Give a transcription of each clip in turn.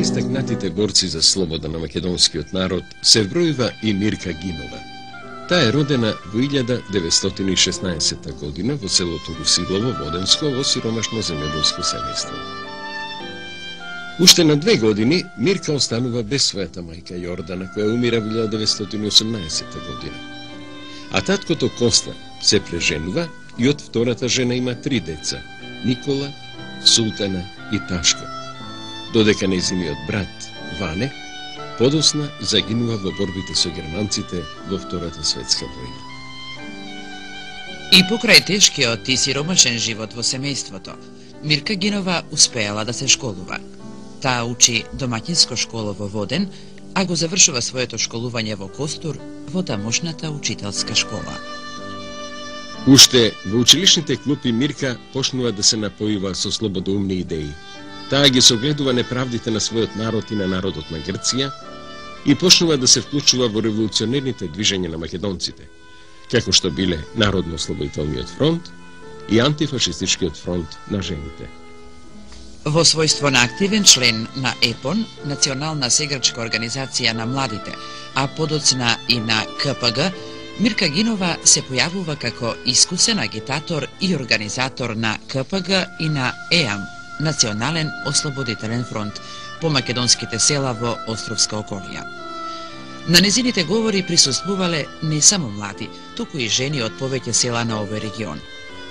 најистакнатите борци за слобода на македонскиот народ се вбројува и Мирка Гинова. Таа е родена во 1916 година во селото Русилово, Воденско, во сиромашно земјоделско семејство. Уште на 2 години Мирка останува без својата мајка Јордана, која умира во 1918 година. А таткото Коста се преженува и од втората жена има 3 деца – Никола, Султана и Ташко. Додека нејзиниот брат Ване подосна загинува во борбите со германците во Втората светска војна. И покрај тешкиот и сиромашен живот во семејството, Мирка Гинова успеала да се школува. Таа учи домаќинско школа во Воден, а го завршува своето школување во Костур, во тамошната учителска школа. Уште во училишните клупи Мирка почнува да се напојува со слободоумни идеи. Таа ги согледува неправдите на својот народ и на народот на Грција и почнува да се вклучува во револуционерните движења на македонците, како што биле Народно-ослободителниот фронт и антифашистичкиот фронт на жените. Во својство на активен член на ЕПОН, Национална сеграчка организација на младите, а подоцна и на КПГ, Мирка Гинова се појавува како искусен агитатор и организатор на КПГ и на ЕАМ, Национален ослободителен фронт, по македонските села во Островска околија. На незините говори присуствувале не само млади, туку и жени од повеќе села на овој регион.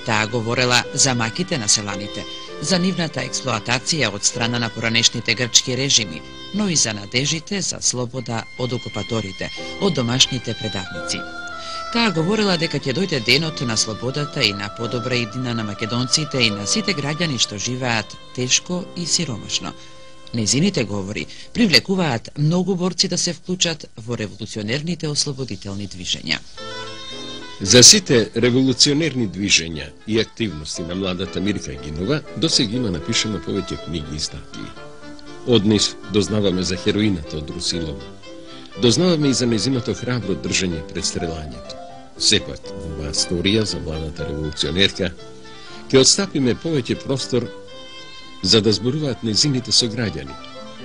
Таа говорела за маките на селаните, за нивната експлоатација од страна на поранешните грчки режими, но и за надежите за слобода од окупаторите, од домашните предавници. Таа говорела дека ќе дојде денот на слободата и на подобра иднина на македонците и на сите граѓани што живеат тешко и сиромашно. Незините говори привлекуваат многу борци да се вклучат во револуционерните ослободителни движења. За сите револуционерни движења и активности на младата Мирка Гинова досега има напишано повеќе книги и статии. Од нив дознаваме за хероината од Русилово. Дознаваме и за незиното храбро држање пред стрелањето. Сепак, во оваа историја за младата револуционерка ќе отстапиме повеќе простор за да зборуваат незините сограѓани,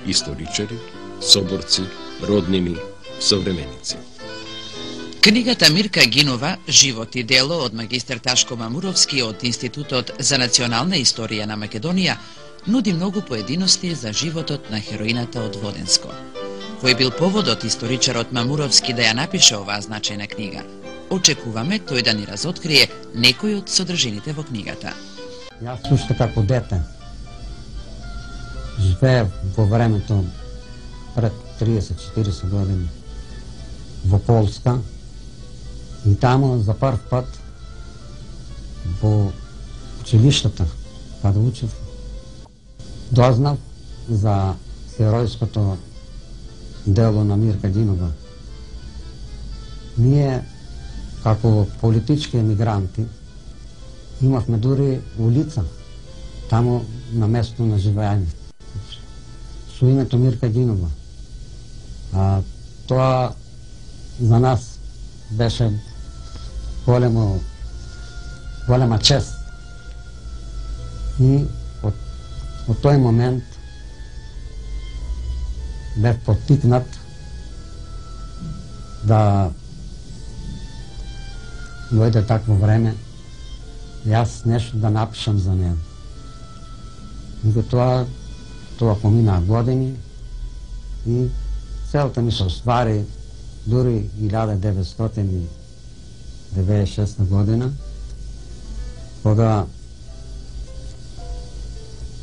историчари, соборци, роднини, современици. Книгата Мирка Гинова, живот и дело од магистер Ташко Мамуровски од Институтот за национална историја на Македонија нуди многу поединости за животот на хероината од Воденско. Кој бил поводот историчарот Мамуровски да ја напише оваа значајна книга? Очекуваме тој да ни разоткрие некои од содржините во книгата. Јас уште како дете живеев во времето пред 30-40 години во Полска и таму за прв пат во училиштата, кога учев, дознав за херојското дело на Мирка Гинова. Ние, како политички емигранти, имавме дури улица, таму на место на живење, со името Мирка Гинова. Тоа за нас беше голема чест. И од тој момент бев поттикнат да дојде такво време јас нешто да напишам за неа. И тоа поминаа години и целта ми се оствари дури 1996 година, кога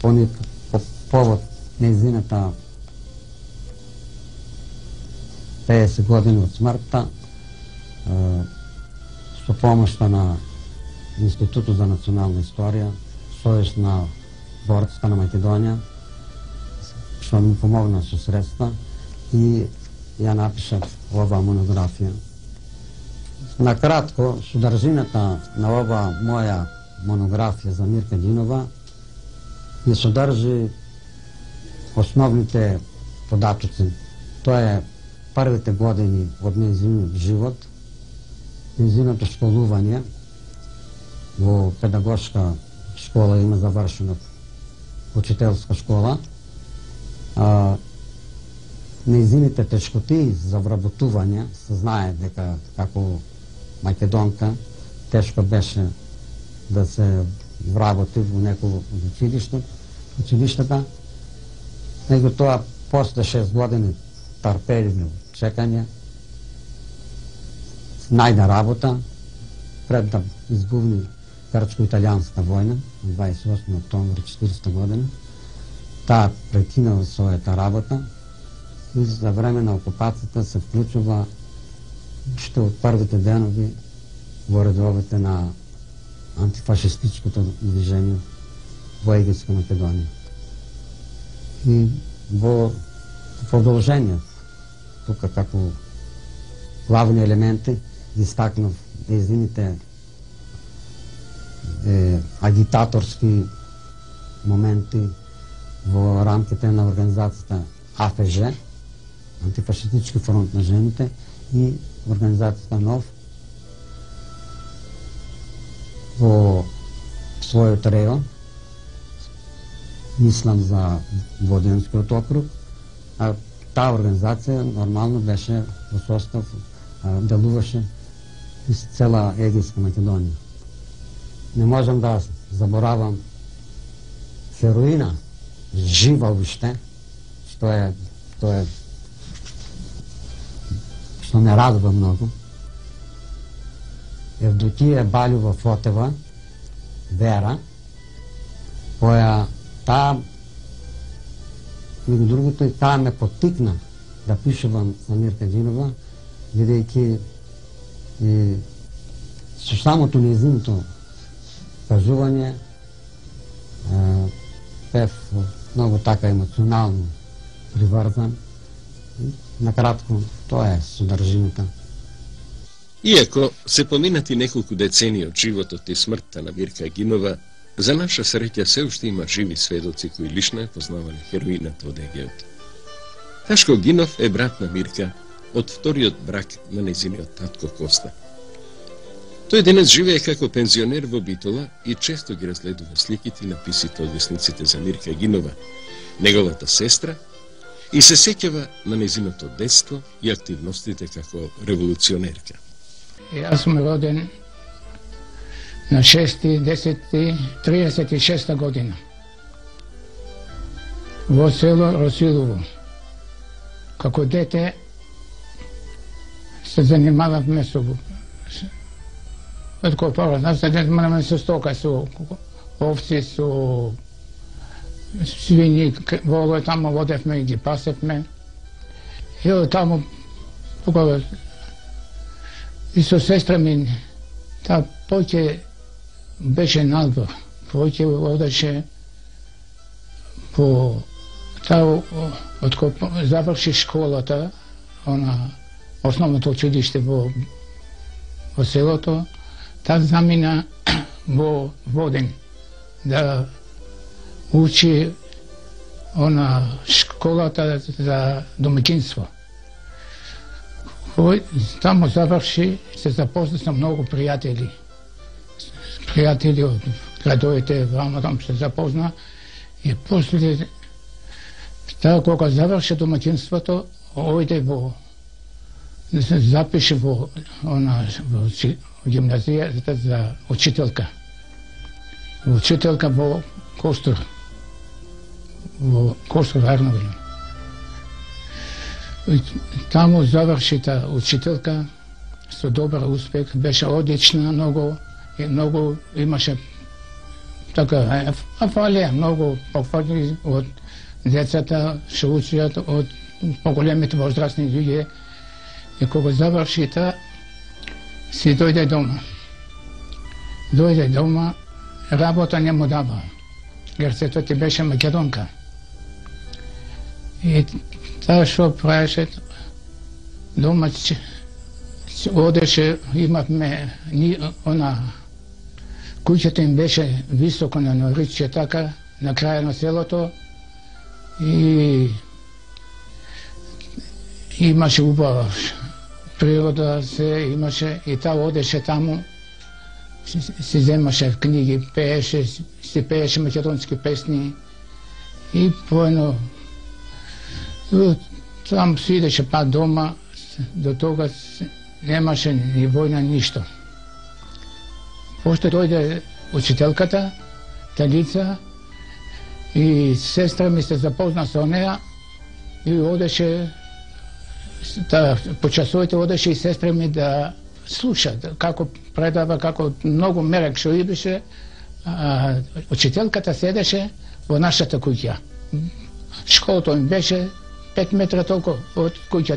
по повод нејзината 50 години од смртта, со помошта на Институтот за национална историја, Сојузна борцска на Македонија, што ми помогна со средства и ја напишав оваа монографија. Накратко, содржината на оваа моја монографија за Мирка Гинова ја содржи основните податоци. Тоа е првите години од нејзиниот живот, нејзиното школување во педагошка школа, има завршена учителска школа, неизините тешкоти за вработување, се знае дека како македонка тешко беше да се вработи во некој од училиштата, него тоа после 6 години трпеливо чекање најде работа пред да избувни Грчко-италијанската војна на 28 октомври 40 година. Таа прекинала својата работа и за време на окупацијата се вклучува уште од првите денови во редовите на антифашистичкото движење во Егејска Македонија. И во продолжение, тука како главни елементи ги истакнав нејзините агитаторски моменти во рамките на организацијата АФЖ, Антифашистички фронт на жените, и организацијата НОВ во својот реон, мислам за Воденскиот округ, а таа организација нормално беше во состав, делуваше из цела Егејска Македонија. Не можам да заборавам Хероина, жива уште, што ме радува многу. Евдокија Балјова Фотева, Вера, која таа, меѓу другото, и таа ме поттикна да пишувам за Мирка Гинова, бидејќи со самото нејзиното кажување бев многу така емоционално приврзан. Накратко, тоа е содржината. Иако се поминати неколку децении од животот и смртта на Мирка Гинова, за наша среќа се уште има живи сведоци кои лично ја познавале хероината од Егејот. Ташко Гинов е брат на Мирка од вториот брак на нејзиниот татко Коста. Тој денес живее како пензионер во Битола и често ги разгледува сликите и написите од весниците за Мирка Гинова, неговата сестра, и се сеќава на нејзиното детство и активностите како револуционерка. Јас сум роден на 6.10.36 година во село Росилово. Како дете се занимававме со откопаваме, се занимаваме со стока, со овци, со свињи, волој таму водевме и ги пасевме. И од таму и со сестра ми, таа поќе беше надвор, поќе одеше по таа заврши школата, основното училиште во селото, таа замина во Воден да учи школата за домаќинство. Таму заврши, се запозна со многу пријатели. Пријатели од градовите, вамо таму се запозна. И после, таа кога заврши домаќинството, ојде се запише во гимназијата за учителка. Учителка во Костур. Во Костур Арновин. Таму заврши таа учителка со добар успех, беше одлична, многу имаше така афалија, многу пофали од децата што учат од поголемите возрастни луѓе. И кога заврши таа, си дојде дома. Дојде дома, работа не му дава, jer сето ти беше македонка. И таа што праеше, дома одеше, имавме, куќата им беше високо на Норичје, така, на краја на селото, и имаше убава природа, се имаше, и таа одеше таму, си земаше книги, пееше, си пееше македонски песни, и поедно Там се идеше па дома, до тога немаше ни војна, ништо. Пошто дојде учителката, Талица, и сестра ми се запозна со неа и одеше, по часовите одеше и сестра ми да слуша како предава, како многу мерак што идеше. Учителката седеше во нашата куќа. Школата им беше 5 метра толку од куќата.